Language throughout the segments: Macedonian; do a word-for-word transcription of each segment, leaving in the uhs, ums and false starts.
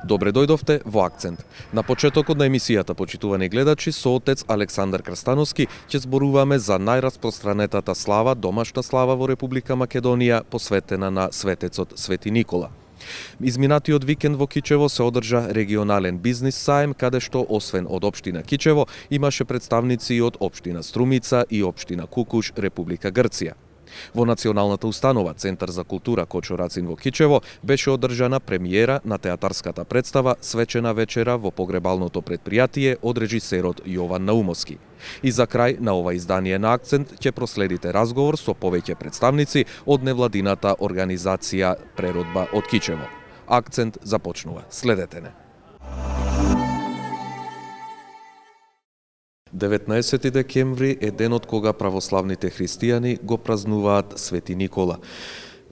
Добре дојдовте во Акцент. На почетокот на емисијата, почитувани гледачи, со отец Александар Крстановски ќе зборуваме за најраспространетата слава, домашна слава во Република Македонија, посветена на светецот Свети Никола. Изминатиот викенд во Кичево се одржа регионален бизнис саем, каде што освен од општина Кичево имаше представници и од општина Струмица и општина Кукуш, Република Грција. Во Националната установа Центар за култура Кочо Рацин во Кичево беше одржана премиера на театарската представа Свечена вечера во погребалното предпријатие од режисерот Јован Наумовски. И за крај на ова издание на Акцент ќе проследите разговор со повеќе представници од невладината организација Преродба од Кичево. Акцент започнува. Следете не. деветнаесети декември е денот кога православните христијани го празнуваат Свети Никола.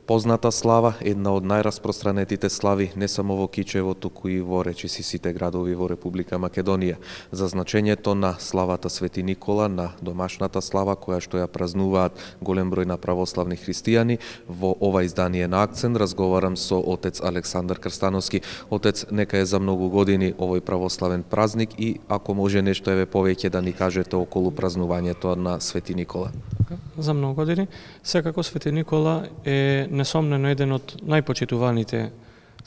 Позната слава, една од најраспространетите слави не само во Кичево, туку и во речиси сите градови во Република Македонија. За значењето на славата Свети Никола, на домашната слава која што ја празнуваат голем број на православни христијани, во ова издание на Акцент разговарам со отец Александар Крстановски. Отец, нека е за многу години овој православен празник и ако може нешто еве повеќе да ни кажете околу празнувањето на Свети Никола. За многу години. Секако Свети Никола е несомнено еден од најпочитуваните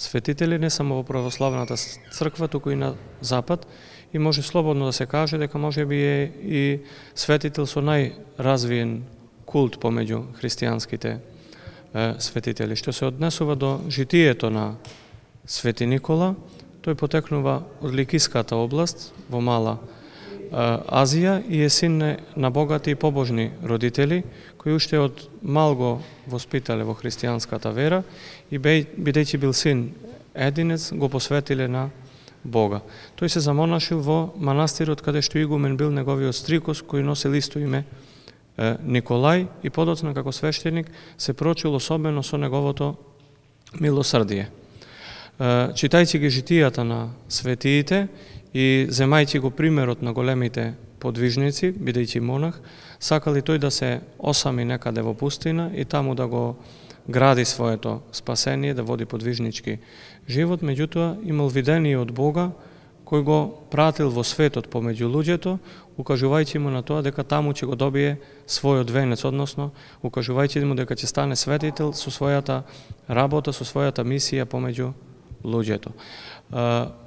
светители, не само во православната црква, туку и на Запад. И може слободно да се каже дека може би е и светител со најразвиен култ помеѓу христијанските е, светители. Што се однесува до житието на Свети Никола, тој потекнува од Ликиската област во Мала Азија и е син на богати и побожни родители, кои уште од мал го воспитале во христијанската вера и бидејќи бил син единец, го посветиле на Бога. Тој се замонашил во манастирот каде што игумен бил неговиот стрикос, кој носел исто име Николај и подоцна како свештеник се прочил особено со неговото милосрдие. Читајќи ги житијата на светиите и земајќи го примерот на големите подвижници, бидејќи монах, сакали тој да се осами некаде во пустина и таму да го гради своето спасение, да води подвижнички живот, меѓутоа имал видение од Бога кој го пратил во светот помеѓу луѓето, укажувајќи му на тоа дека таму ќе го добие својот венец, односно укажувајќи му дека ќе стане светител со својата работа, со својата мисија помеѓу луѓето.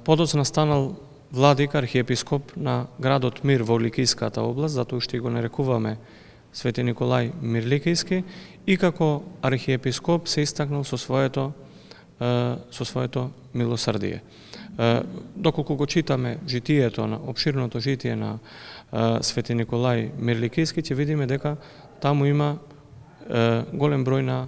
Подоцна станал владик, архиепископ на градот Мир во Ликиската област, затоа што го нарекуваме Свети Николај Мирликиски, и како архиепископ се истакнал со своето со своето милосрдие. Доколку го читаме житието на опширното житие на Свети Николај Мирликиски, ќе видиме дека таму има голем број на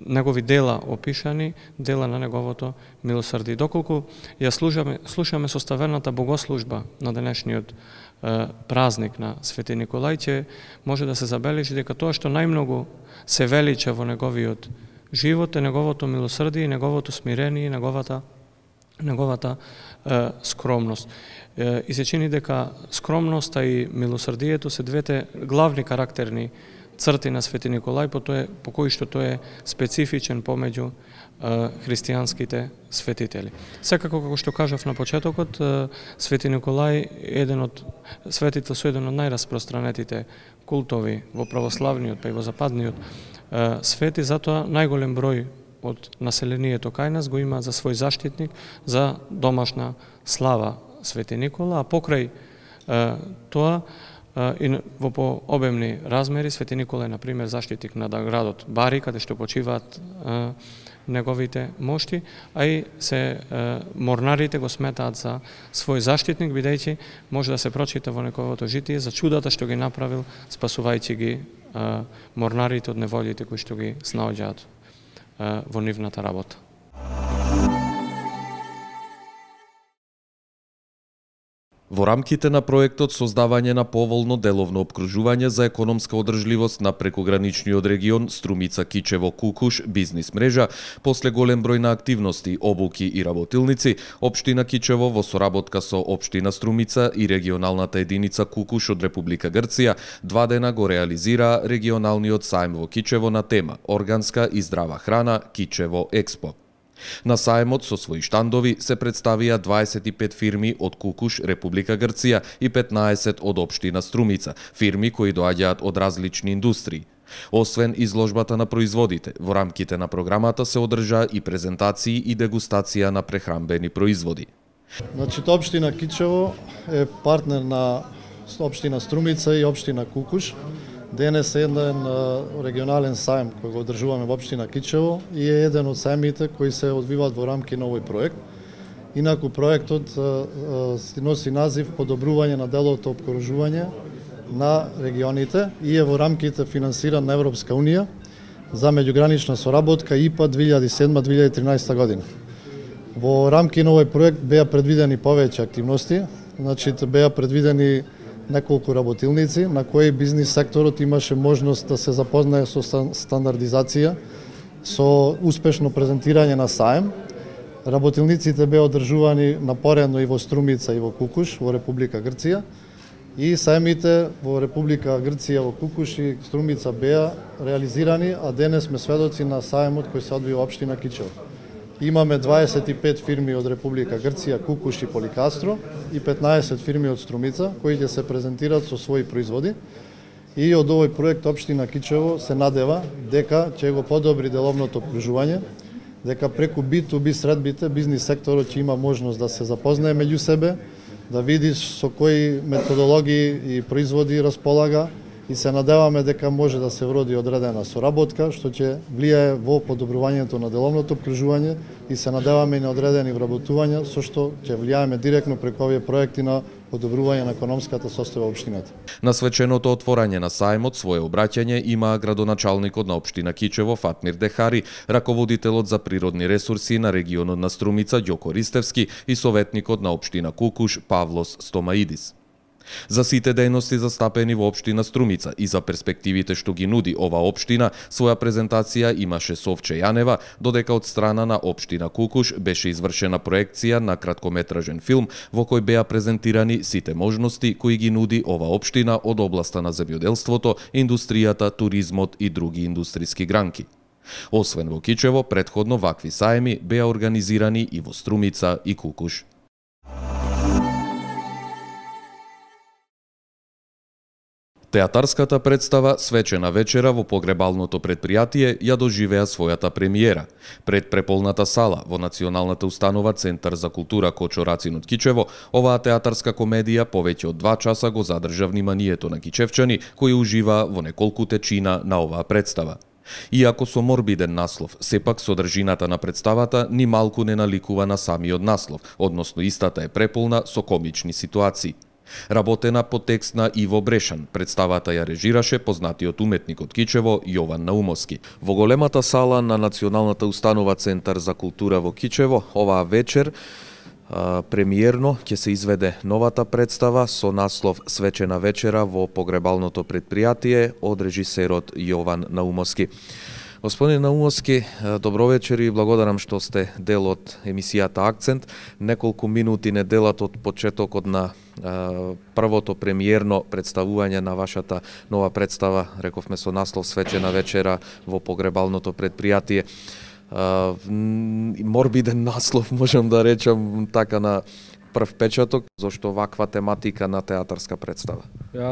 негови дела опишани, дела на неговото милосрдие. Доколку ја слушаме, слушаме составената богослужба на денешниот е, празник на Свети Николај, ќе може да се забележи дека тоа што најмногу се велича во неговиот живот е неговото милосрдие, неговото смирение, неговата неговата е, скромност. Е, и се чини дека скромноста и милосрдието се двете главни карактерни црти на Свети Николај, по, тој, по кој што тој е специфичен помеѓу е, христијанските светители. Секако, како што кажав на почетокот, е, Свети Николај е еден од светител со еден од најраспространетите култови во православниот, па и во западниот е, свет, и затоа најголем број од населението кај нас го има за свој заштитник, за домашна слава Свети Никола, а покрај е, тоа и во пообемни размери Свети Никола е, например, заштитник на градот Бари, каде што почиваат е, неговите мошти, а и се е, морнарите го сметаат за свој заштитник, бидејќи може да се прочита во неговото житие за чудата што ги направил, спасувајќи ги е, морнарите од неволите кои што ги снаоѓаат во нивната работа. Во рамките на проектот создавање на поволно деловно опкружување за економска одржливост на прекограничниот регион Струмица-Кичево-Кукуш бизнис мрежа, после голем број на активности, обуки и работилници, општина Кичево во соработка со општина Струмица и регионалната единица Кукуш од Република Грција два дена го реализира регионалниот сајм во Кичево на тема Органска и здрава храна Кичево Експо. На сајмот со своји штандови се представија дваесет и пет фирми од Кукуш, Република Грција и петнаесет од општина Струмица, фирми кои доаѓаат од различни индустрии. Освен изложбата на производите, во рамките на програмата се одржа и презентации и дегустација на прехранбени производи. Значи, општина Кичево е партнер на општина Струмица и општина Кукуш. Денес е еден регионален сајм кој го одржуваме во општина Кичево и е еден од сајмите кои се одвиваат во рамки на овој проект. Инаку проектот носи назив Подобрување на деловото опкружување на регионите и е во рамките финансиран на Европска унија за меѓугранична соработка И П А две илјади и седма до две илјади и тринаесета година. Во рамки на овој проект беа предвидени повеќе активности, значи беа предвидени неколку работилници на кои бизнис секторот имаше можност да се запознае со стандардизација, со успешно презентирање на сајм. Работилниците беа одржувани напоредно и во Струмица и во Кукуш во Република Грција и сајмите во Република Грција, во Кукуш и Струмица беа реализирани, а денес сме сведоци на сајмот кој се одвива во општина Кичево. Имаме дваесет и пет фирми од Република Грција, Кукуш и Поликастро и петнаесет фирми од Струмица кои ќе се презентираат со своји производи. И од овој проект општина Кичево се надева дека ќе го подобри деловното опкружување, дека преку Би ту Би средбите бизнис секторот ќе има можност да се запознае меѓу себе, да види со кои методологии и производи располага и се надеваме дека може да се вроди одредена соработка што ќе влијае во подобрувањето на деловното опкружување и се надеваме и на одредени вработувања со што ќе влијаеме директно преку овие проекти на подобрување на економската состојба општината. На свеченото отворање на сајмот свое обраќање има градоначалникот на општина Кичево Фатмир Дехари, раководителот за природни ресурси на регионот на Струмица Ѓоко Ристевски и советникот на општина Кукуш Павлос Стомаидис. За сите дејности застапени во општина Струмица и за перспективите што ги нуди ова општина, своја презентација имаше Совче Јанева, додека од страна на општина Кукуш беше извршена проекција на краткометражен филм во кој беа презентирани сите можности кои ги нуди ова општина од областа на земјоделството, индустријата, туризмот и други индустријски гранки. Освен во Кичево, претходно вакви сајми беа организирани и во Струмица и Кукуш. Театарската представа Свечена вечера во погребалното претпријатие ја доживеа својата премиера. Пред преполната сала во Националната установа Центар за култура Кочо Рацин од Кичево, оваа театарска комедија повеќе од два часа го задржа вниманието на кичевчани кои уживаа во неколку течина на оваа представа. Иако со морбиден наслов, сепак содржината на представата ни малку не наликува на самиот наслов, односно истата е преполна со комични ситуации. Работена по текст на Иво Брешан, представата ја режираше познатиот уметник од Кичево Јован Наумовски. Во големата сала на Националната установа Центар за култура во Кичево, оваа вечер а, премиерно ќе се изведе новата представа со наслов Свечена вечера во погребалното претпријатие од режисерот Јован Наумовски. Господин Наумовски, добро вечер и благодарам што сте дел од емисијата Акцент. Неколку минути не делат од почетокот на а, првото премиерно представување на вашата нова представа, рековме со наслов Свечена вечера во погребалното претпријатие. А, морбиден наслов, можам да речам така на прв печаток, зашто ваква тематика на театарска представа?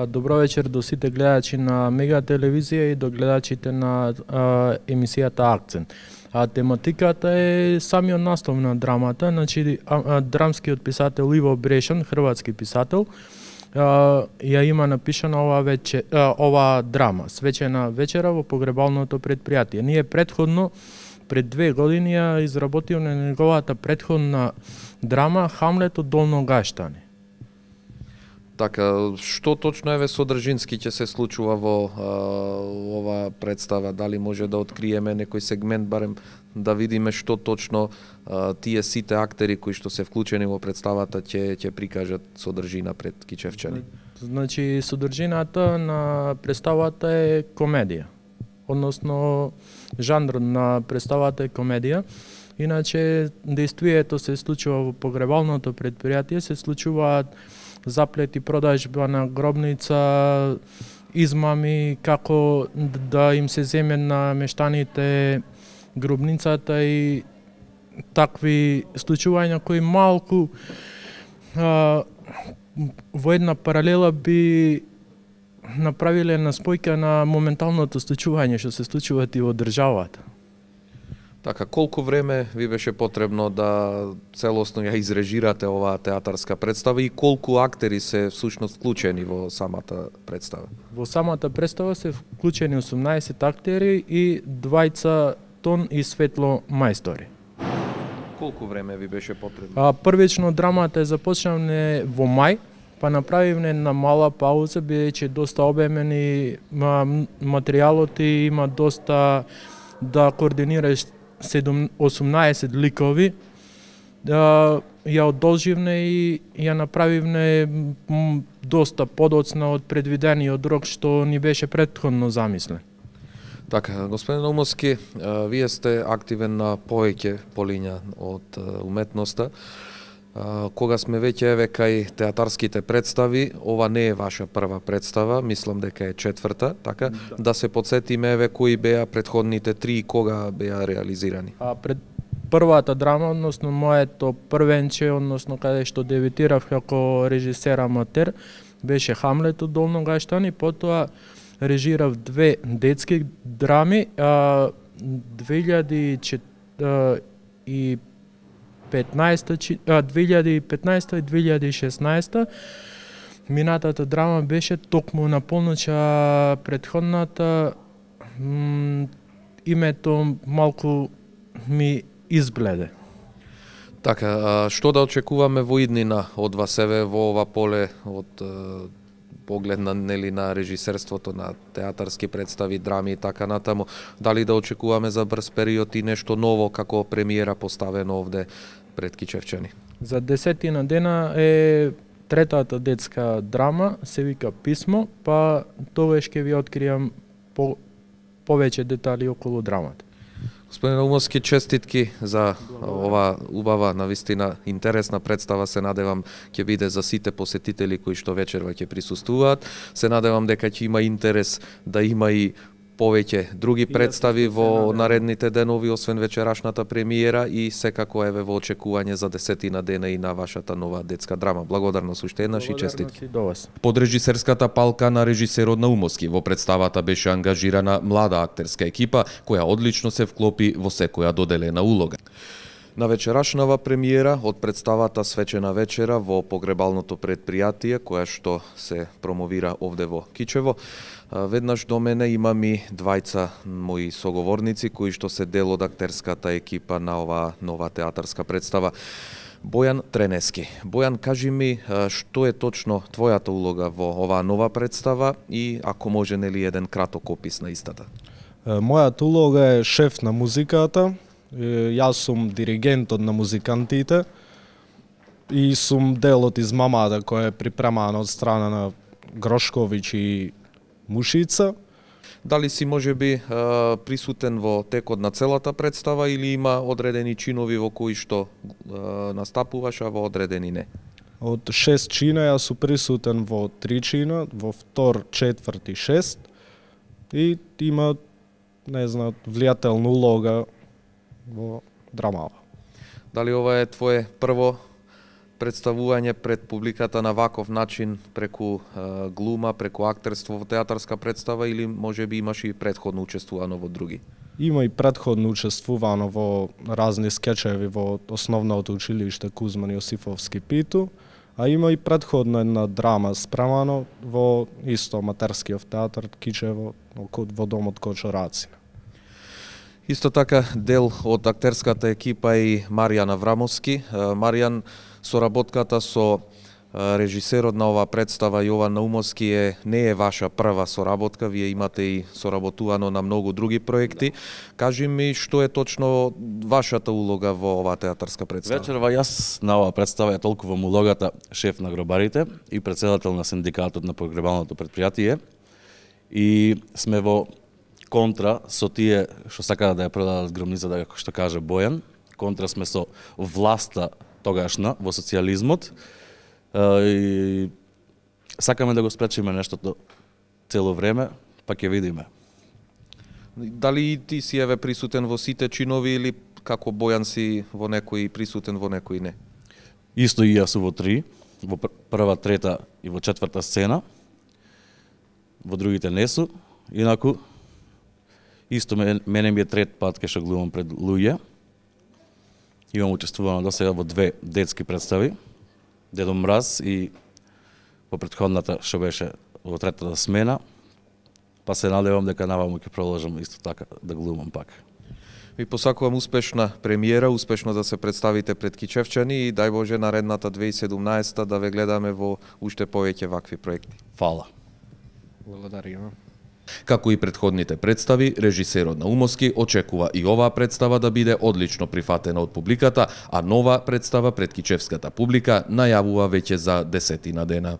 Добро вечер до сите гледачи на Мега телевизија и до гледачите на а, емисијата Акцент. А тематиката е самиот наслов на драмата, значи а, а, драмскиот писател Иво Брешан, хрватски писател, а, ја има напишана ова вече а, ова драма, Свечена вечера во погребалното претпријатие. Ние претходно пред две години ја изработил на неговата претходна драма Хамлет од Долно Гаштани. Така, што точно еве содржински ќе се случува во а, ова представа? Дали може да откриеме некој сегмент, барем да видиме што точно а, тие сите актери кои што се вклучени во представата ќе ќе прикажат содржина пред кичевчани? Значи, содржината на представата е комедија. Односно, жанр на представата е комедија. Иначе, действието се случува во погребалното предпријатие, се случуваат заплети, продажба на гробница, измами, како да им се земе на мештаните гробницата и такви случувања кои малку а, во една паралела би направиле на спојка на моменталното случување што се случуваат и во државата. Така, колку време ви беше потребно да целосно ја изрежирате оваа театарска представа и колку актери се всушност вклучени во самата представа? Во самата представа се вклучени осумнаесет актери и двајца тон и светло мајстори. Колку време ви беше потребно? А, првично драмата е започнавме во мај, па направивме една мала пауза, бидејќи доста обемен и материјалот и има доста да координираш осумнаесет ликови, да ја одолживне и ја направивне доста подоцна од предвидениот рок што ни беше претходно замислен. Така, господин Наумовски, вие сте активен на повеќе полиња од уметноста. Кога сме веќе еве кај театарските представи, ова не е ваша прва представа, мислам дека е четврта, така? Да, да се подсетиме еве кои беа претходните три и кога беа реализирани. А пред првата драма, односно моето првенче, односно каде што дебитирав како режисер аматер, беше Хамлет од Долно Гаштан и потоа режирав две детски драми, а две илјади и петнаесета, две илјади и петнаесета и две илјади и шеснаесета. Минатата драма беше токму на полноќ, а претходната името малку ми избледе. Така, што да очекуваме во иднина од вас еве во ова поле од поглед на, нели, на режисерството на театарски представи, драми и така натаму? Дали да очекуваме за брз период и нешто ново како премиера поставено овде пред кичевчани? За десетина дена е третата детска драма, се вика Писмо, па тогаш ќе ви откријам по, повеќе детали околу драмата. Господин Наумовски, честитки за ова убава, навистина интересна представа. Се надевам ќе биде за сите посетители кои што вечерва ќе присуствуваат. Се надевам дека ќе има интерес да има и повеќе други представи во наредните денови, освен вечерашната премиера, и секако еве во очекување за десетина дена и на вашата нова детска драма. Благодарност уште еднаш и честитки. Под режисерската палка на режисерот Наумовски во представата беше ангажирана млада актерска екипа која одлично се вклопи во секоја доделена улога. На вечерашнава премиера од представата Свечена вечера во погребалното предпријатие, која што се промовира овде во Кичево, веднаш до мене имам и двајца мои соговорници кои што се дел од актерската екипа на оваа нова театарска представа. Бојан Тренески. Бојан, кажи ми што е точно твојата улога во оваа нова представа и ако може, нели, еден краток опис на истата? Мојата улога е шеф на музиката. Јас сум диригентот на музикантите и сум дел од измамата која е припремана од страна на Грошковиќ и Мушица. Дали си можеби присутен во текот на целата представа или има одредени чинови во кои што настапуваш, а во одредени не? Од шест чина јас сум присутен во три чина, во втор, четврт и шест, и има, не знам, влијателна улога во драмава. Дали ова е твое прво представување пред публиката на ваков начин, преку е, глума, преку актерство во театарска представа, или можеби имаш и претходно учествувано во други? Има и претходно учествувано во разни скечеви во основното училиште Кузман Јосифовски Питу, а има и претходно една драма спремано во исто аматерскиот театар Кичево, во домот Кочораци. Исто така дел од актерската екипа и Маријан Аврамовски. Маријан, соработката со Режисерот на оваа представа Јован Наумовски е не е ваша прва соработка, вие имате и соработувано на многу други проекти. Кажи ми што е точно вашата улога во оваа театарска представа? Вечерва јас на оваа представа ја толкувам улогата шеф на гробарите и председател на синдикатот на погребалното предпријатие и сме во контра со тие што сакаат да ја продадат гробницата, како што каже Бојан. Контра сме со власта тогашна во социјализмот. И сакаме да го спречиме нештото цело време, па ќе видиме. Дали ти си еве присутен во сите чинови или како Бојан си во некои присутен, во некои не? Исто и јас во три, во прва, трета и во четврта сцена. Во другите не су. Инаку исто мене ми е трет пат кај што глумам пред луѓе. Имам учествувано до сега во две детски представи. Дедо Мраз и во претходната што беше во третата смена, па се надевам дека наваму ќе продолжам исто така да глумам пак. Ви посакувам успешна премиера, успешно да се представите пред кичевчани и дај Боже наредната две илјади и седумнаесета да ве гледаме во уште повеќе вакви проекти. Фала. Благодариме. Како и претходните представи, режисерот Наумовски очекува и оваа представа да биде одлично прифатена од публиката, а нова представа пред кичевската публика најавува веќе за десетина дена.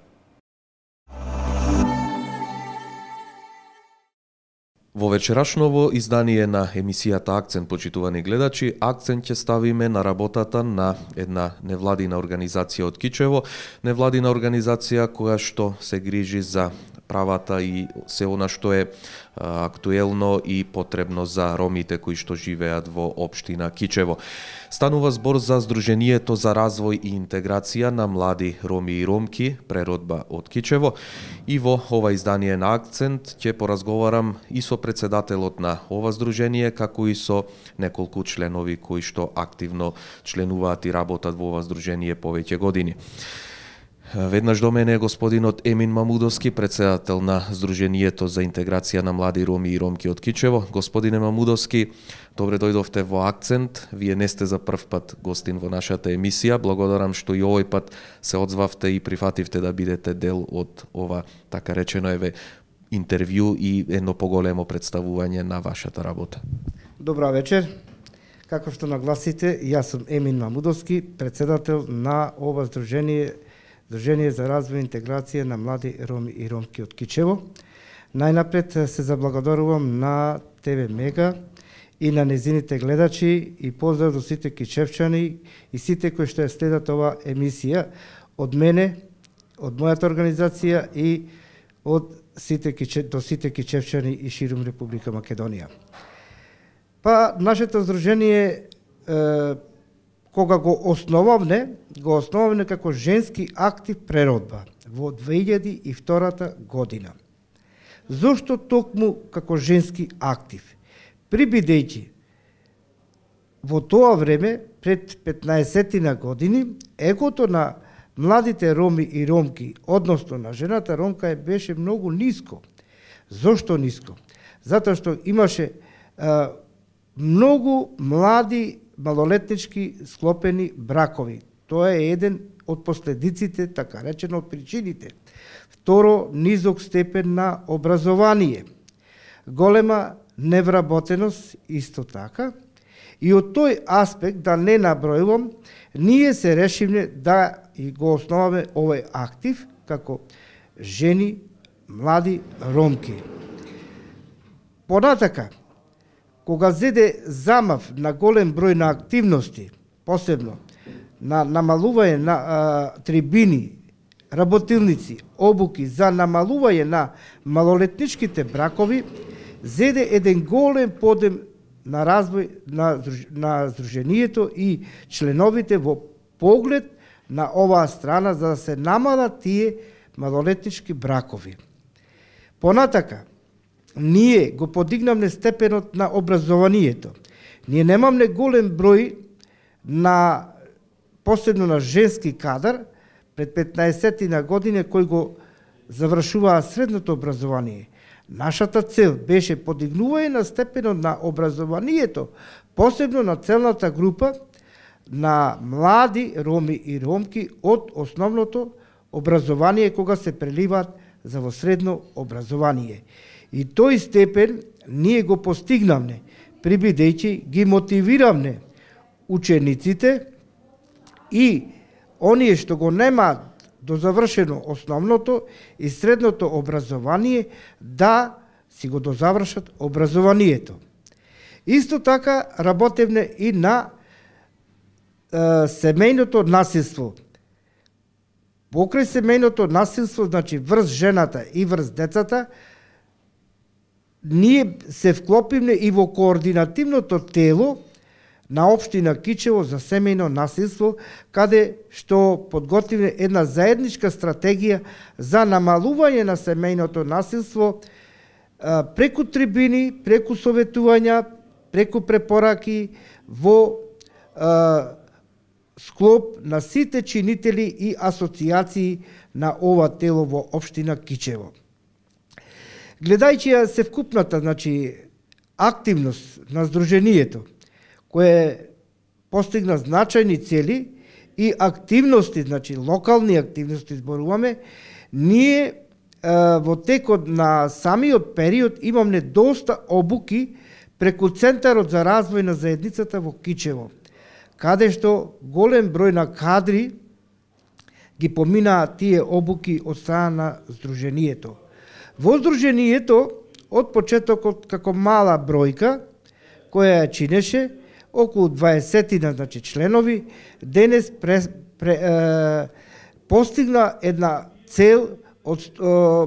Во вечерашново издание на емисијата Акцент, почитувани гледачи, акцент ќе ставиме на работата на една невладина организација од Кичево, невладина организација која што се грижи за правата и се она што е а, актуелно и потребно за ромите кои што живеат во општина Кичево. Станува збор за Сдруженијето за развој и интеграција на млади роми и ромки, преродба од Кичево, и во ова издание на Акцент ќе поразговарам и со председателот на ова здружение, како и со неколку членови кои што активно членуваат и работат во ова здружение повеќе години. Веднаш до мене е господинот Емин Мамудовски, председател на Сдруженијето за интеграција на млади роми и ромки од Кичево. Господине Мамудовски, добре дојдовте во Акцент. Вие не сте за прв пат гостин во нашата емисија. Благодарам што и овој пат се одзвавте и прифативте да бидете дел од ова, така речено еве, интервју и едно поголемо представување на вашата работа. Добра вечер. Како што нагласите, јас сум Емин Мамудовски, председател на ова здружение Сдружение за развој и интеграција на млади роми и ромки од Кичево. Најнапред се заблагодарувам на ТВ Мега и на незините гледачи и поздрав до сите кичевчани и сите кои што ја следат ова емисија од мене, од мојата организација и од сите киче, до сите кичевчани и ширум Република Македонија. Па нашето здружение е, кога го основавме, го основавме како женски актив преродба во две илјади и втора година. Зошто токму како женски актив? Прибидејќи во тоа време, пред петнаесетина години, егото на младите роми и ромки, односно на жената ромка, беше многу ниско. Зошто ниско? Затоа што имаше а, многу млади малолетнички склопени бракови. Тоа е еден од последиците, така речено од причините. Второ, низок степен на образование. Голема невработеност исто така. И од тој аспект, да не набројувам, ние се решивме да и го основаме овој актив како жени, млади ромки. Понатака, кога зеде замав на голем број на активности, посебно на намалување на а, трибини, работилници, обуки за намалување на малолетничките бракови, зеде еден голем подем на развој на, на Сдруженијето и членовите во поглед на оваа страна за да се намалат тие малолетнички бракови. Понатака, ние го подигнавме степенот на образованието. Ние немамме голем број на, посебно на женски кадар, пред петнаесетина години кои го завршуваа средното образование. Нашата цел беше подигнување на степенот на образованието, посебно на целната група на млади роми и ромки од основното образование кога се преливаат за во средно образование. И тој степен ние го постигнавме, прибидејќи ги мотивиравме учениците и оние што го немаат до завршено основното и средното образование да си го дозавршат образованието. Исто така работевме и на е, семејното насилство. Покрај семејното насилство, значи врз жената и врз децата, ние се вклопивме и во координативното тело на општина Кичево за семејно насилство, каде што подготвивме една заедничка стратегија за намалување на семејното насилство преку трибини, преку советувања, преку препораки во а, склоп на сите чинители и асоцијации на ова тело во општина Кичево. Гледајќи ја севкупната, значи, активност на Сдруженијето, кое постигна значајни цели и активности, значи локални активности зборуваме, ние е, во текот на самиот период имаме доста обуки преку Центарот за развој на заедницата во Кичево, каде што голем број на кадри ги поминаа тие обуки од страна на Сдруженијето. Во Сдруженијето, од почетокот како мала бројка, која ја чинеше, околу дваесет, значи, членови, денес пре, пре, е, постигна една цел од е,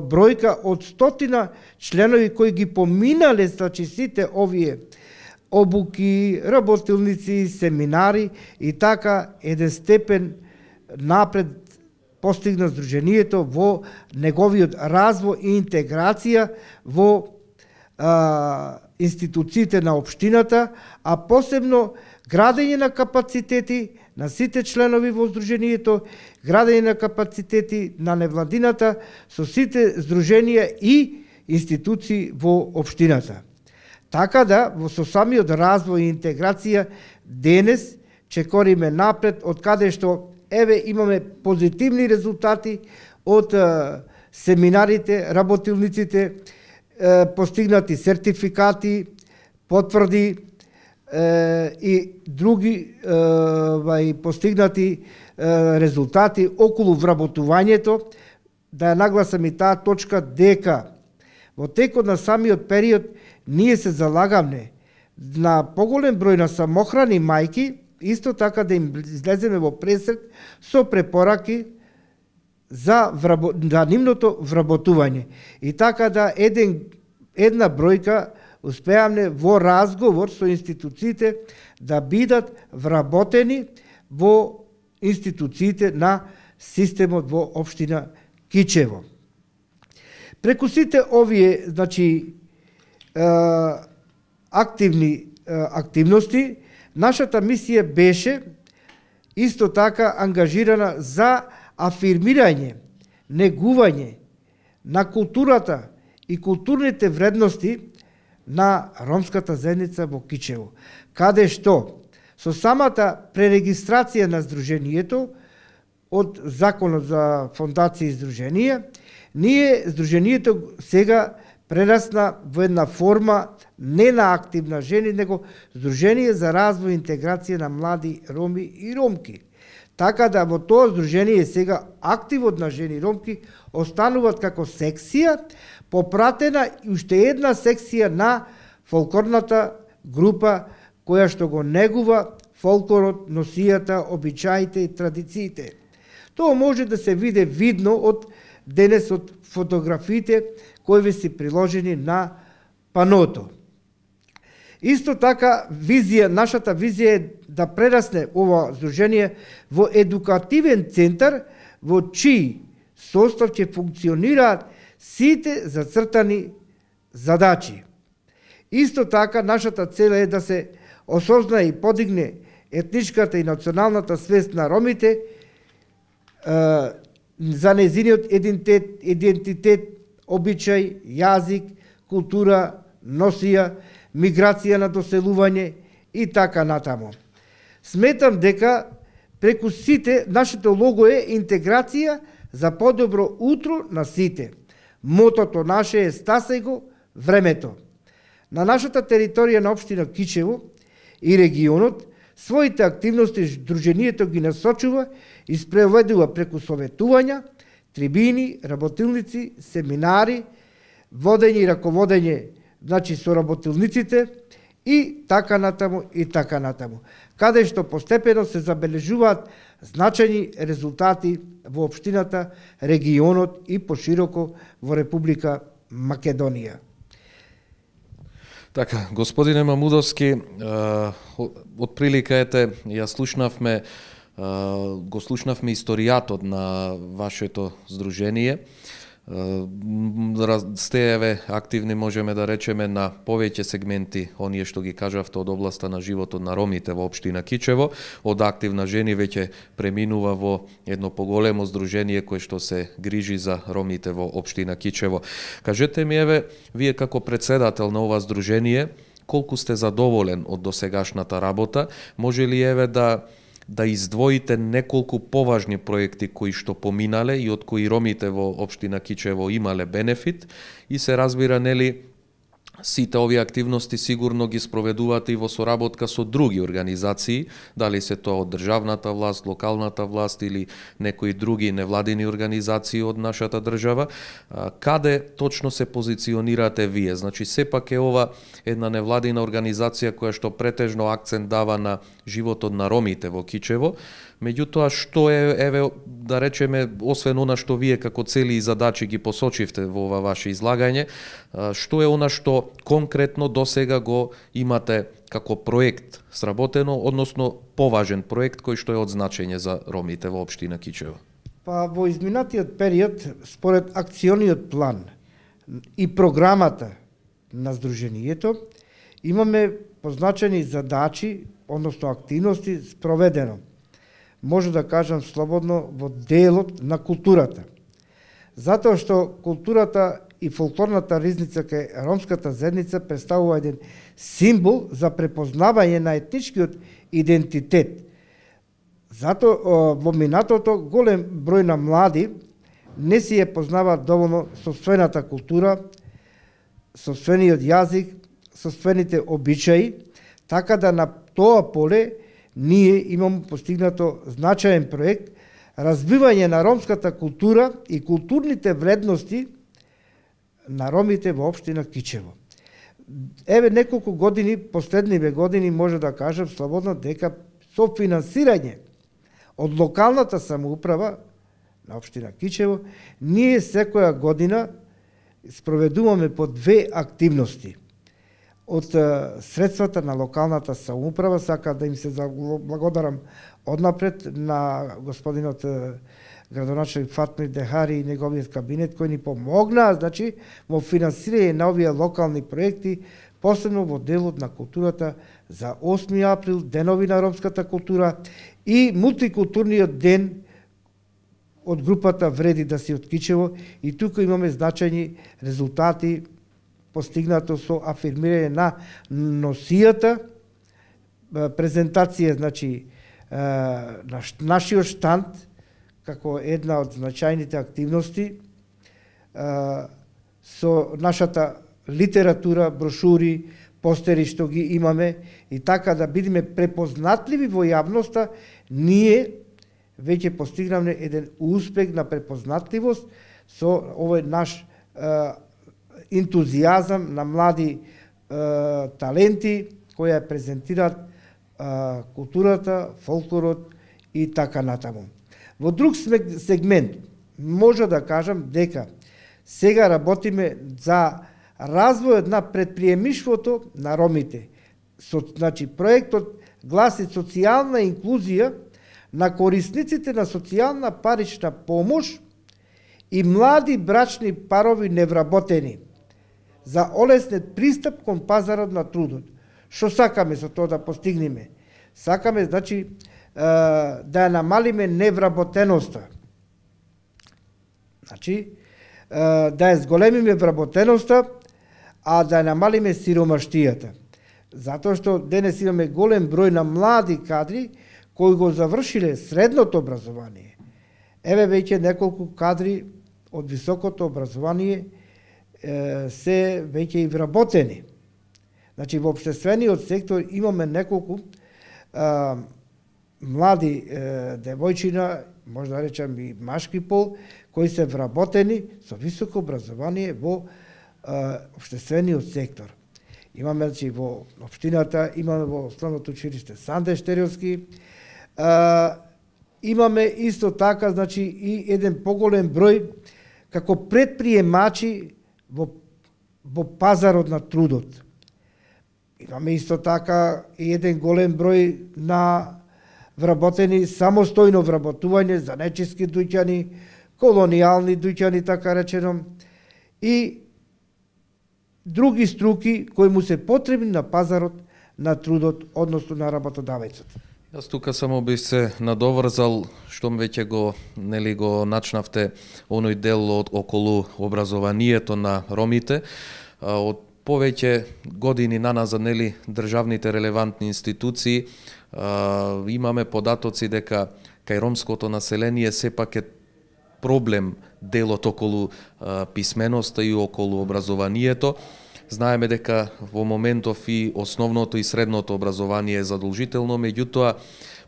бројка од стотина членови кои ги поминале, значи, сите овие обуки, работилници, семинари и така еден степен напред постигна Сдруженијето во неговиот развој и интеграција во а, институциите на општината, а посебно градење на капацитети на сите членови во Сдруженијето, градење на капацитети на невладината со сите здруженија и институции во општината. Така да, во со самиот развој и интеграција, денес чекориме напред, од каде што еве имаме позитивни резултати од е, семинарите, работилниците, е, постигнати сертификати, потврди е, и други е, постигнати е, резултати околу вработувањето. Да ја нагласам и таа точка дека во текот на самиот период ние се залагаме на поголем број на самохрани мајки, исто така да им излеземе во пресред со препораки за, врабо, за нивното вработување. И така да еден, една бројка успеавме во разговор со институциите да бидат вработени во институциите на системот во општина Кичево. Преку сите овие, значи, активни активности, нашата мисија беше исто така ангажирана за афирмирање, негување на културата и културните вредности на ромската заедница во Кичево, каде што со самата пререгистрација на Сдруженијето од Законот за фондации и здруженија, ние Сдруженијето сега прерасна во една форма не на активна жени, него Сдружение за развој и интеграција на млади роми и ромки. Така да во тоа здружение сега активот на жени ромки остануваат како секција, попратена и уште една секција на фолклорната група која што го негува фолклорот, носијата, обичаите и традициите. Тоа може да се види видно од денес од фотографиите кои ви се приложени на паното. Исто така, визија, нашата визија е да прерасне ова здружение во едукативен центар во чиј состав ќе функционираат сите зацртани задачи. Исто така, нашата цел е да се осознае и подигне етничката и националната свест на ромите за незиниот идентитет, идентитет, обичај, јазик, култура, носија, миграција на доселување и така натаму. Сметам дека преку сите нашето лого е интеграција за подобро утро на сите. Мотото наше е стасај го времето. На нашата територија на општина Кичево и регионот, своите активности Сдруженијето ги насочува и спроведува преку советувања, трибини, работилници, семинари, водење и раководење, значи со работилниците и така натаму и така натаму, каде што постепено се забележуваат значајни резултати во општината, регионот и пошироко во Република Македонија. Така, господине Мамудовски, од прилика ете, ја слушнавме, го слушнавме историјатот на вашето здружение. Сте еве активни, можеме да речеме, на повеќе сегменти, оние што ги кажавте од областа на животот на ромите во општина Кичево. Од активна жени веќе преминува во едно поголемо здружение кое што се грижи за ромите во општина Кичево. Кажете ми, еве, вие како председател на ова здружение, колку сте задоволен од досегашната работа? Може ли еве да да издвоите неколку поважни проекти кои што поминале и од кои ромите во општина Кичево имале бенефит, и се разбира, нели, сите овие активности сигурно ги спроведувате и во соработка со други организации, дали се тоа од државната власт, локалната власт или некои други невладини организации од нашата држава. Каде точно се позиционирате вие? Значи, сепак е ова една невладина организација која што претежно акцент дава на животот на ромите во Кичево. Меѓутоа, што е, еве, да речеме, освен она што вие како цели и задачи ги посочивте во ова ваше излагање, што е она што конкретно досега го имате како проект сработено, односно поважен проект кој што е од значење за ромите во општина Кичево? Па во изминатиот период, според акциониот план и програмата на Сдруженијето, имаме позначени задачи, односно активности спроведено. Може да кажам слободно во делот на културата. Затоа што културата и фолклорната ризница кај ромската заедница представува еден символ за препознавање на етничкиот идентитет. Затоа во минатото голем број на млади не си ја познаваат доволно сопствената култура, сопствениот јазик, сопствените обичаи, така да на тоа поле ние имаме постигнато значаен проект развивање на ромската култура и културните вредности на ромите во општина Кичево. Еве неколку години, последниве години, може да кажам слободно дека со финансирање од локалната самоуправа на општина Кичево, ние секоја година спроведуваме по две активности. Од средствата на локалната самоуправа, сака да им се благодарам однапред на господинот градоначелник Фатмир Дехари и неговиот кабинет кои ни помогнаа, значи, во финансирање на овие локални проекти, посебно во делот на културата за осми април, денови на ромската култура и мултикултурниот ден од групата Вреди да си од Кичево, и тука имаме значајни резултати постигнато со афирмирање на носијата, презентација, значи, на нашиот штанд, како една од значајните активности, со нашата литература, брошури, постери што ги имаме, и така да бидеме препознатливи во јавноста, ние веќе постигнавме еден успех на препознатливост со овој наш ентузијазам на млади е, таленти кои ја презентираат е, културата, фолклорот и така натаму. Во друг сегмент може да кажам дека сега работиме за развојот на предприемништвото на ромите. Со, значи, проектот гласи социјална инклузија на корисниците на социјална парична помош и млади брачни парови невработени за олеснет пристап кон пазарот на трудот. Што сакаме со тоа да постигнеме? Сакаме, значи, да ја намалиме невработеноста. Значи, да ја зголемиме вработеноста, а да ја намалиме сиромаштијата. Затоа што денес имаме голем број на млади кадри кои го завршиле средното образование. еве веќе неколку кадри од високото образование е, се веќе и вработени. Значи, во општествениот сектор имаме неколку а, млади е, девојчина, може да речем и машки пол, кои се вработени со високо образование во а, општествениот сектор. Имаме, значи, во општината, имаме во основното училиште Санде Штериовски, а, имаме исто така, значи, и еден поголем број како предприемачи во, во пазарот на трудот. Имаме исто така и еден голем број на вработени самостојно вработување за нечиски дуќани, колонијални дуќани, така речено, и други струки кои му се потребни на пазарот на трудот, односно на работодавецот. Јас тука само би се надоврзал, штом веќе го, нели, го начнавте оној дел од околу образованието на ромите. Од повеќе години наназад, нели, државните релевантни институции имаме податоци дека кај ромското население сепак е проблем делот околу писменоста и околу образованието. Знаеме дека во моментов и основното и средното образование е задолжително, меѓутоа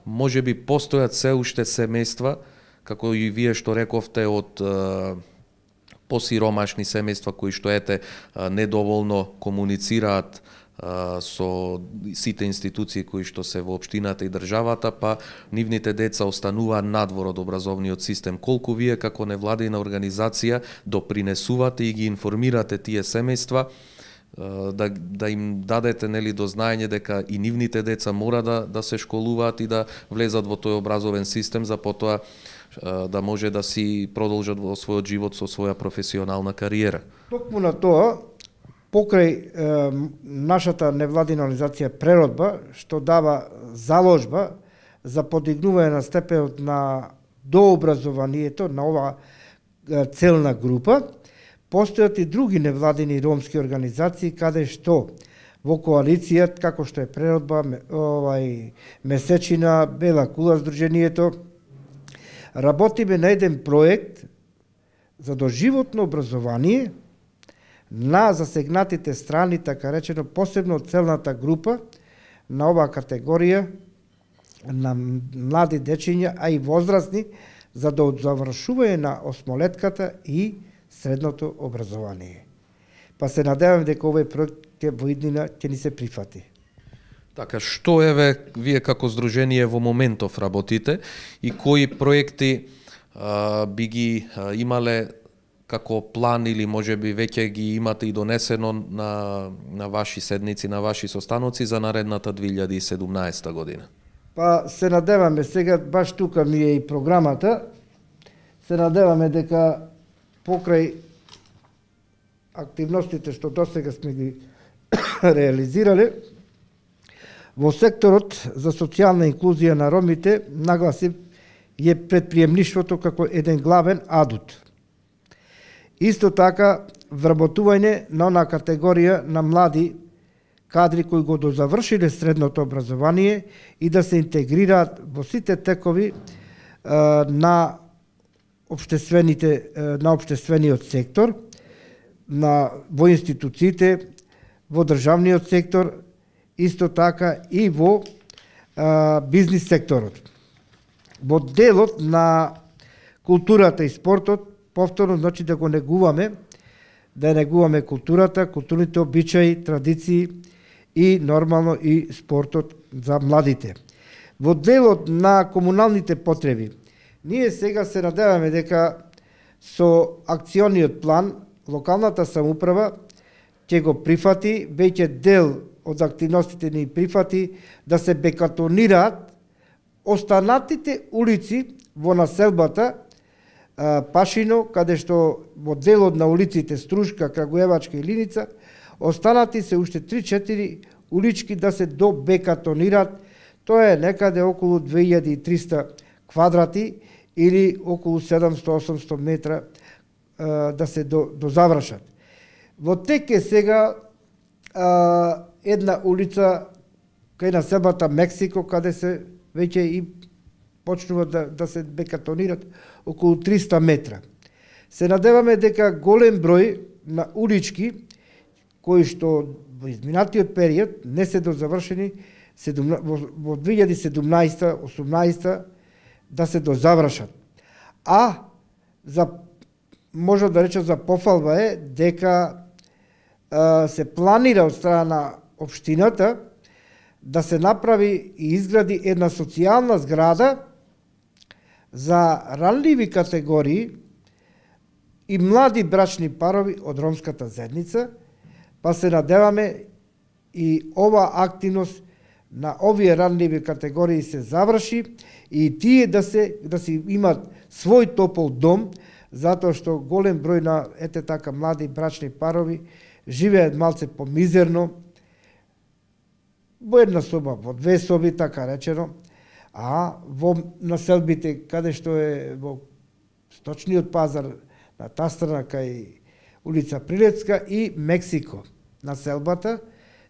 може би постојат се уште семејства, како и вие што рековте, од посиромашни семејства кои што ете недоволно комуницираат со сите институции кои што се во општината и државата, па нивните деца остануваат надвор од образовниот систем. Колку вие како невладина организација допринесувате и ги информирате тие семејства, да, да им дадете, нели, до знаење дека и нивните деца мора да, да се школуваат и да влезат во тој образовен систем, за потоа да може да си продолжат во својот живот со своја професионална кариера. Токму на тоа, покрај е, нашата невладина организација Преродба, што дава заложба за подигнување на степенот на дообразованието на ова целна група, постојат и други невладини ромски организации каде што во коалиција, како што е Преродба, овај Месечина, Бела кула здружението, работиме на еден проект за доживотно образование на засегнатите страни, така речено, посебно целната група на оваа категорија на млади дечиња, а и возрастни, за да од завршување на осмолетката и средното образование. Па се надевам дека овој проект ќе во иднина ќе ни се прифати. Така, што еве вие како здружение во моментов работите и кои проекти а, би ги а, имале како план или можеби веќе ги имате и донесено на, на ваши седници, на ваши состаноци за наредната две илјади и седумнаесета година? Па се надеваме сега, баш тука ми е и програмата, се надеваме дека покрај активностите што досега сме ги реализирале, во секторот за социјална инклузија на ромите нагласи е предприемништвото како еден главен адут. Исто така, вработување на она категорија на млади кадри кои го дозавршиле средното образование и да се интегрираат во сите текови е, на општествените на општествениот сектор, на во институциите, во државниот сектор, исто така и во а, бизнис секторот. Во делот на културата и спортот, повторно, значи да го негуваме, да негуваме културата, културните обичаи, традиции и нормално и спортот за младите. Во делот на комуналните потреби, ние сега се надеваме дека со акциониот план локалната самоуправа ќе го прифати, веќе дел од активностите ни прифати да се бекатонираат останатите улици во населбата Пашино, каде што во делот на улиците Струшка, Крагуевачка и Линица, останати се уште три-четири улички да се добекатонираат. Тоа е некаде околу две илјади и триста квадрати или околу седумстотини-осумстотини метра да се до, дозавршат. Во тек е сега а, една улица кај населбата Мексико, каде се веќе и почнуваат да, да се бекатонират околу триста метра. Се надеваме дека голем број на улички кои што во изминатиот период не се дозавршени во две илјади и седумнаесета осумнаесета да се дозавршат. А за може да речем за пофалба е дека а, се планира од страна на општината да се направи и изгради една социјална зграда за ранливи категории и млади брачни парови од ромската заедница, па се надеваме и ова активност на овие ранливи категории се заврши и тие да се да си имат свој топол дом, затоа што голем број на ете така млади брачни парови живеат малце помизерно, во една соба, во две соби, така речено, а во населбите каде што е во сточниот пазар на таа страна кај улица Прилепска и Мексико населбата,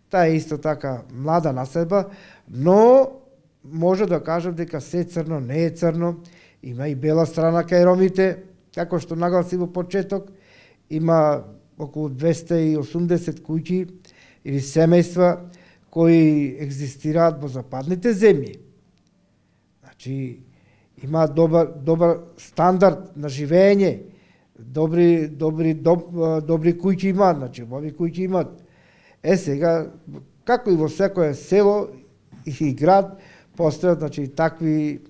таа е исто така млада населба, но може да кажам дека се црно не е црно, има и бела страна кај ромите, како што нагласи во почеток, има околу двеста и осумдесет куќи или семејства кои екзистираат во западните земји. Значи, има добар, добар стандард на живење, добри, добри, доб, добри куќи имаат, значи, ови куќи имаат. Е, сега, како и во секое село и град, постојат, значи, такви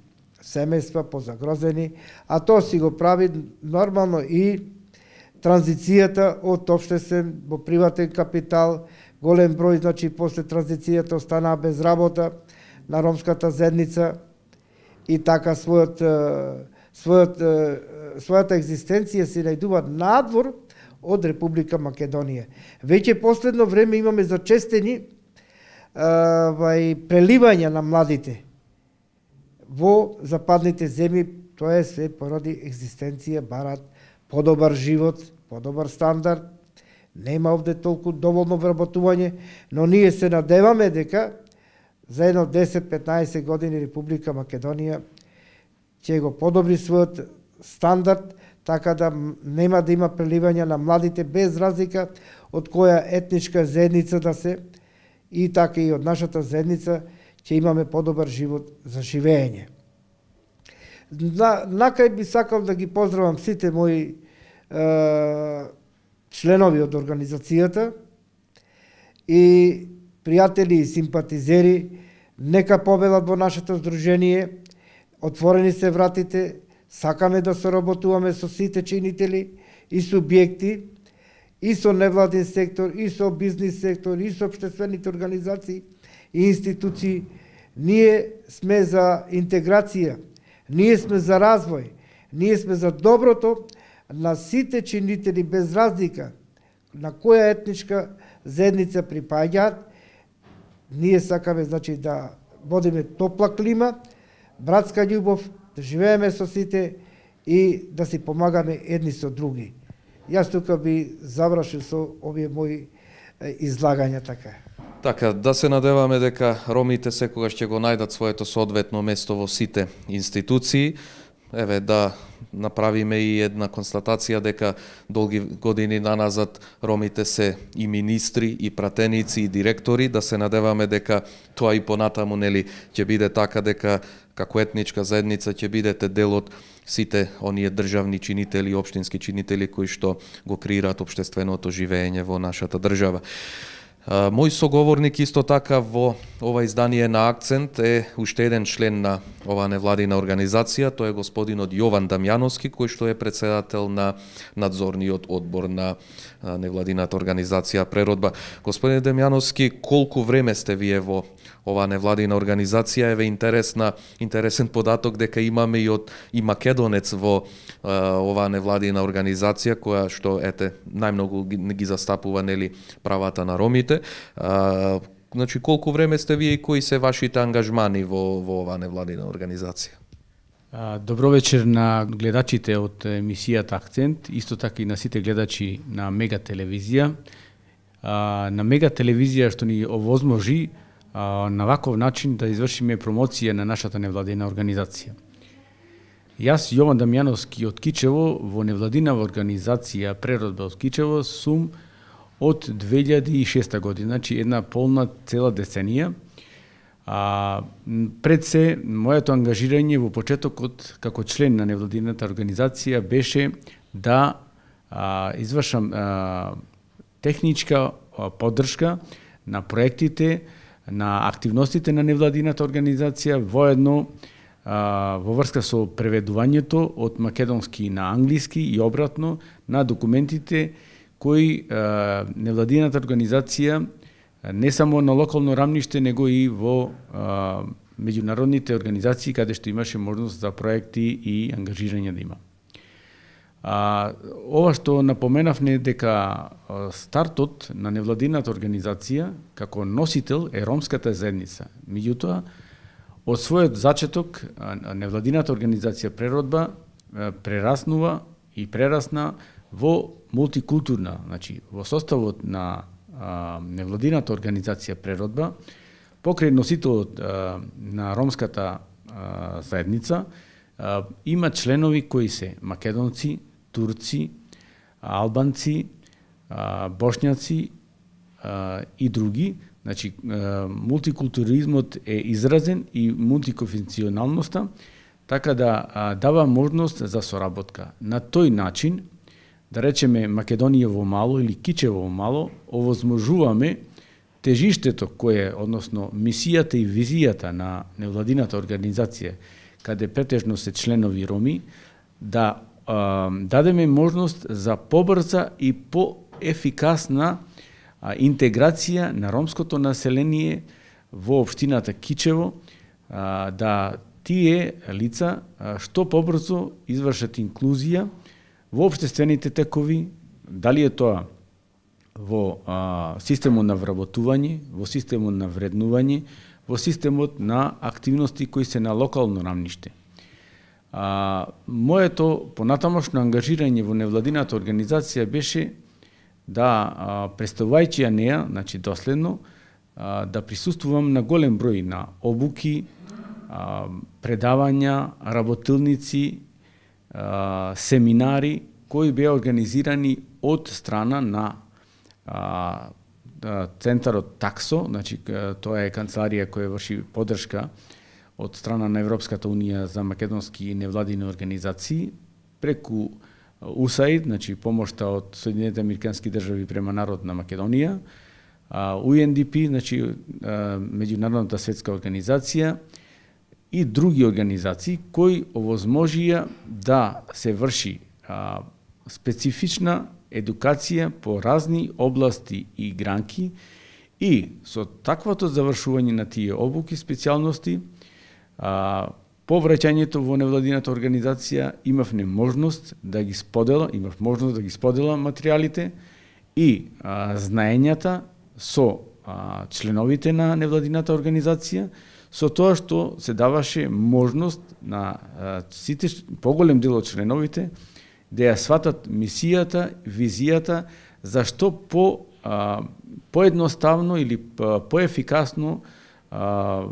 семејства позагрозени, а тоа си го прави нормално и транзицијата од општествен во приватен капитал, голем број, значи, после транзицијата останаа без работа на ромската заедница и така својот, својот, својата екзистенција се најдува надвор од Република Македонија. Веќе последно време имаме зачестени вај преливања на младите во западните земји, тоа е се поради екзистенција, барат подобар живот, подобар стандард. Нема овде толку доволно вработување, но ние се надеваме дека за едно десет-петнаесет години Република Македонија ќе го подобри својот стандард, така да нема да има преливање на младите без разлика од која етничка заедница да се, и така и од нашата заедница ќе имаме подобар живот за живење. На, накрај би сакал да ги поздравам сите мои е, членови од организацијата и пријатели и симпатизери, нека победат во нашето здружение, отворени се вратите, сакаме да соработуваме со сите чинители и субјекти, и со невладин сектор, и со бизнис сектор, и со општествените организации и институции. Ние сме за интеграција, ние сме за развој, ние сме за доброто на сите чинители без разлика на која етничка заедница припаѓаат. Ние сакаме, значи, да водиме топла клима, братска љубов, да живееме со сите и да си помагаме едни со други. Јас тука би завршил со овие мои излагања така. Така, да се надеваме дека ромите секогаш ќе го најдат своето соодветно место во сите институции. Еве, да направиме и една констатација дека долги години наназад ромите се и министри, и пратеници, и директори. Да се надеваме дека тоа и понатаму, нели, ќе биде така, дека како етничка заедница ќе бидете дел од сите оние државни чинители, општински чинители кои што го креираат општественото живење во нашата држава. Мој соговорник исто така во ова издание на Акцент е уште еден член на оваа невладина организација, тоа е господинот Јован Дамјановски, кој што е председател на надзорниот одбор на невладината организација Преродба. Господин Дамјановски, колку време сте вие во оваа невладина организација? Еве интересна, интересен податок дека имаме и од и македонец во а, оваа невладина организација која што ете најмногу ги, ги застапува, нели, правата на ромите. А, значи колку време сте вие и кои се вашите ангажмани во во оваа невладина организација? Добро вечер на гледачите од емисијата Акцент, исто така и на сите гледачи на Мега телевизија. На Мега телевизија што ни овозможи на ваков начин да извршиме промоција на нашата невладина организација. Јас, Јован Дамјановски од Кичево, во невладинава организација Преродба од Кичево, сум од две илјади и шеста година, значи една полна цела деценија. А, пред се, моето ангажирање во почетокот како член на невладината организација беше да а, извршам а, техничка а, поддршка на проектите, на активностите на невладината организација, воедно а, во врска со преведувањето од македонски на англиски и обратно на документите кои а, невладината организација не само на локално рамниште, него и во а, меѓународните организации каде што имаше можност за проекти и ангажирање да има. А, ова што напоменавме дека стартот на невладината организација како носител е ромската заедница. Меѓутоа, од својот зачеток невладината организација Преродба прераснува и прерасна во мултикултурна, значи во составот на а, невладината организација Преродба, покрај носителот а, на ромската а, заедница, а, има членови кои се македонци, турци, албанци, а, бошњаци а, и други. Значи, а, мултикултуризмот е изразен и мултиконфесионалноста, така да а, дава можност за соработка. На тој начин, да речеме Македонија во мало или Кичево во мало, овозможуваме тежиштето кое, односно мисијата и визијата на невладината организација, каде претежно се членови роми, да а, дадеме можност за побрза и поефикасна а, интеграција на ромското население во општината Кичево, а, да тие лица а, што побрзо извршат инклузија во општествените текови, дали е тоа во а, системот на вработување, во системот на вреднување, во системот на активности кои се на локално рамниште. А, моето понатамошно ангажирање во невладината организација беше да, а, представувајќи ја неа, значи доследно, а, да присуствувам на голем број на обуки, а, предавања, работилници, семинари кои беа организирани од страна на а, центарот Таксо, значи тоа е канцеларија која врши поддршка од страна на Европската унија за македонски невладини организации, преку ю ес ей ай ди, значи помошта од Соединетите американски држави према народ на Македонија, ю ен ди пи, значи меѓународната светска организација, и други организации кои овозможија да се врши а, специфична едукација по разни области и гранки, и со таквото завршување на тие обуки специјалности, а, по враќањето во невладината организација имавме можност да ги сподела, имав можност да ги сподела материјалите и а, знаењата со а, членовите на невладината организација, со тоа што се даваше можност на а, сите поголем дел од членовите да ја сватат мисијата, визијата, зашто по а, поедноставно или поефикасно а,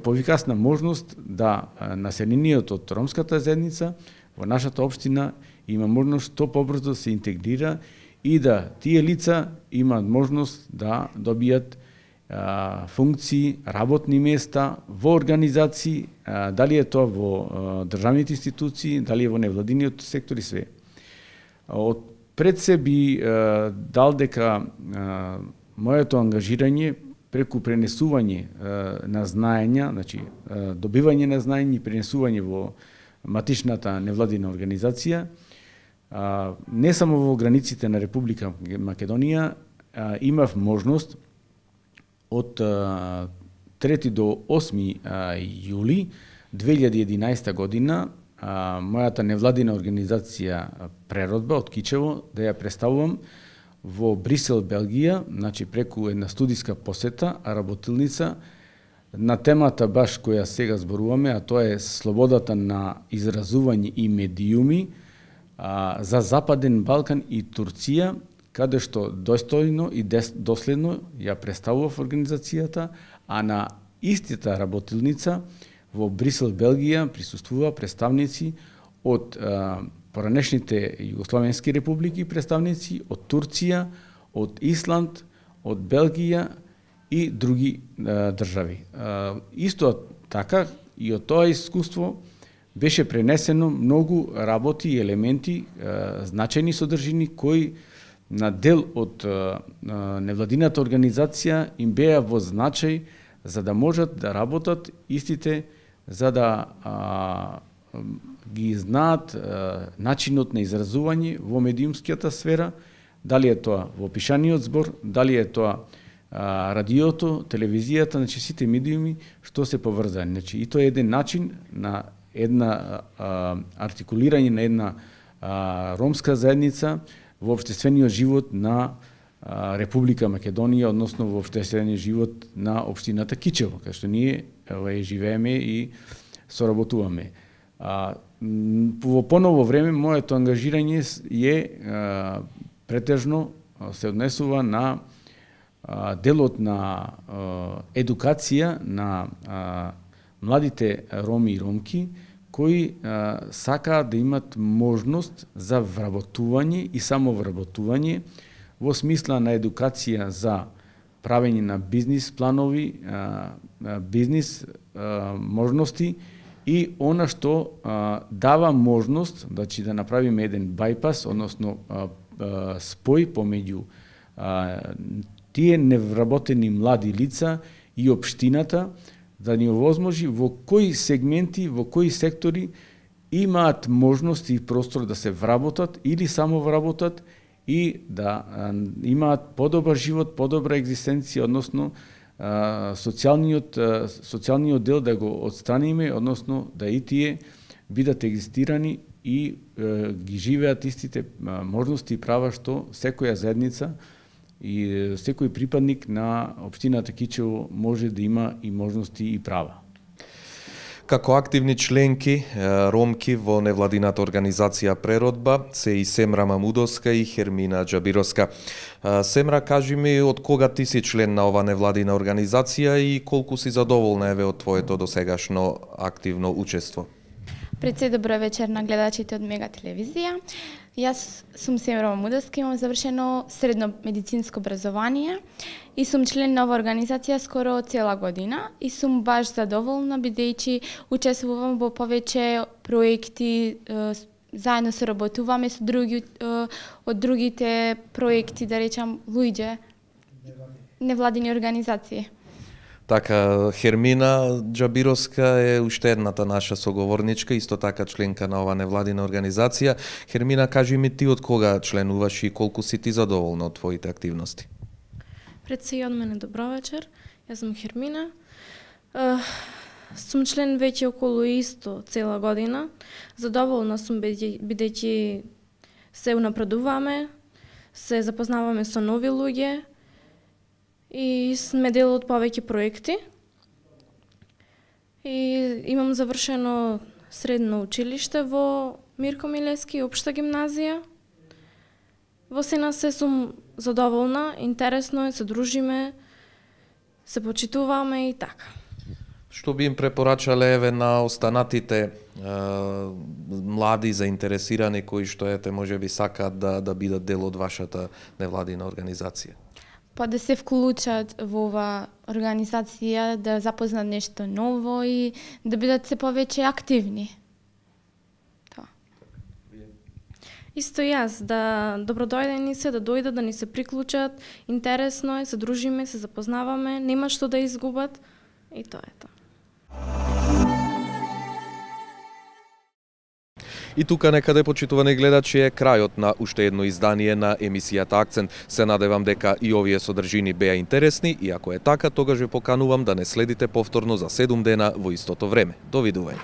поефикасна можност да населението од ромската заедница во нашата општина има можност што побрзо се интегрира и да тие лица имаат можност да добијат функции, работни места во организации, дали е тоа во државните институции, дали е во невладиниот сектор и све. Од пред се би дал дека моето ангажирање преку пренесување на знаења, значи добивање на знаење и пренесување во матичната невладина организација, не само во границите на Република Македонија, имав можност од трети до осми јули две илјади и единаесета година мојата невладина организација Преродба од Кичево да ја представувам во Брисел, Белгија, значи преку една студиска посета, работилница на темата баш која сега зборуваме, а тоа е слободата на изразување и медиуми за Западен Балкан и Турција, каде што достојно и доследно ја представував организацијата, а на истата работилница во Брисел, Белгија, присуствува представници од поранешните југословенски републики, представници од Турција, од Исланд, од Белгија и други а, држави. А, исто така и од тоа искуство беше пренесено многу работи и елементи, а, значајни содржини кои на дел од а, невладината организација им беа во значај за да можат да работат истите, за да а, ги знаат а, начинот на изразување во медиумската сфера, дали е тоа во пишаниот збор, дали е тоа а, радиото, телевизијата, значи сите медиуми што се поврзани. Значи и тоа е еден начин на една а, артикулирање на една а, ромска заедница во општествениот живот на а, Република Македонија, односно во општествениот живот на општината Кичево, кај што ние е живееме и соработуваме. А, во поново време моето ангажирање е а, претежно се однесува на а, делот на а, едукација на а, младите роми и ромки кои а, сакаат да имат можност за вработување и самовработување во смисла на едукација за правење на бизнис планови, а, бизнис а, можности и она што а, дава можност значи, да направиме еден байпас, односно а, а, спој помеѓу а, тие невработени млади лица и општината, да ни овозможи во кои сегменти, во кои сектори имаат можност и простор да се вработат или само вработат и да а, имаат подобар живот, подобра екзистенција, односно а, социјалниот, а, социјалниот дел да го отстраниме, односно да и тие бидат екзистирани и а, ги живеат истите а, можности и права што секоја заедница и секој припадник на општината Кичево може да има и можности и права. Како активни членки ромки во невладината организација Преродба се и Семра Мамудовска и Хермина Џабировска. Семра, кажи ми од кога ти си член на ова невладина организација и колку си задоволна еве од твоето досегашно активно учество? Пред се добро вечер на гледачите од Мега телевизија. Јас сум Семра Мамудовска, имам завршено средно медицинско образование и сум член на оваа организација скоро цела година и сум баш задоволна бидејќи учествувам во повеќе проекти, заедно соработуваме со други од другите проекти, да речам, луѓе, невладини организации. Така, Хермина Џабировска е уште едната наша соговорничка, исто така членка на оваа невладина организација. Хермина, кажи ми ти од кога членуваш и колку си ти задоволна од твоите активности? Пред се и од мене добро вечер. Јас сум Хермина. Uh, сум член веќе околу исто цела година. Задоволна сум бидејќи се унапредуваме, се запознаваме со нови луѓе и сме дел од повеќе проекти. И имам завршено средно училиште во Мирко Милевски, општа гимназија. Во сена се сум задоволна, интересно е, се дружиме, се почитуваме и така. Што би им препорачале еве на останатите е, млади заинтересирани кои што ете можеби сакаат да да бидат дел од вашата невладина организација? Па да се вклучат во оваа организација, да запознат нешто ново и да бидат се повеќе активни. Тоа. Исто јас, да добродојдени се, да дојдат, да ни се приклучат, интересно е, се дружиме, се запознаваме, нема што да изгубат и тоа е тоа. И тука некаде, почитувани гледачи, е крајот на уште едно издание на емисијата Акцент. Се надевам дека и овие содржини беа интересни и ако е така, тогаш ве поканувам да не следите повторно за седум дена во истото време. Довидување.